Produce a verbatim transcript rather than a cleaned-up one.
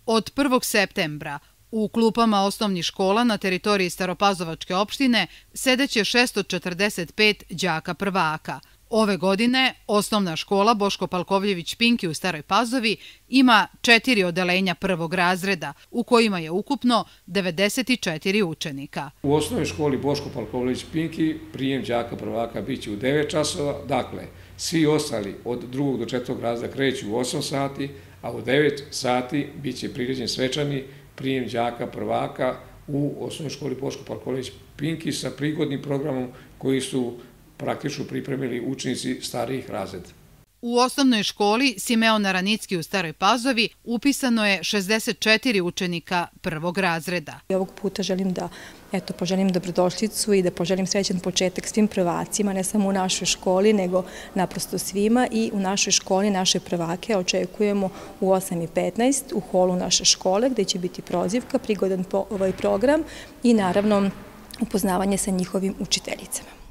Od prvog septembra u klupama osnovnih škola na teritoriji Staropazovačke opštine sedeće šesto četrdeset pet đaka prvaka. Ove godine osnovna škola Boško Palkovljević-Pinki u Staroj Pazovi ima četiri odeljenja prvog razreda u kojima je ukupno devedeset četiri učenika. U osnovnoj školi Boško Palkovljević-Pinki prijem đaka prvaka biće u devet časova, dakle svi ostali od drugog do četvrtog razreda kreću u osam sati, a u devet sati biće priređen svečani prijem đaka prvaka u osnovnoj školi Boško Palkovljević-Pinki sa prigodnim programom koji su praktično pripremili učenici starijih razreda. U osnovnoj školi Simeon Aranicki u Staroj Pazovi upisano je šezdeset četiri učenika prvog razreda. Ovog puta želim da eto, poželim dobrodošlicu i da poželim srećan početak svim prvacima, ne samo u našoj školi, nego naprosto svima, i u našoj školi naše prvake očekujemo u osam i petnaest u holu naše škole, gde će biti prozivka, prigodan ovaj program i naravno upoznavanje sa njihovim učiteljicama.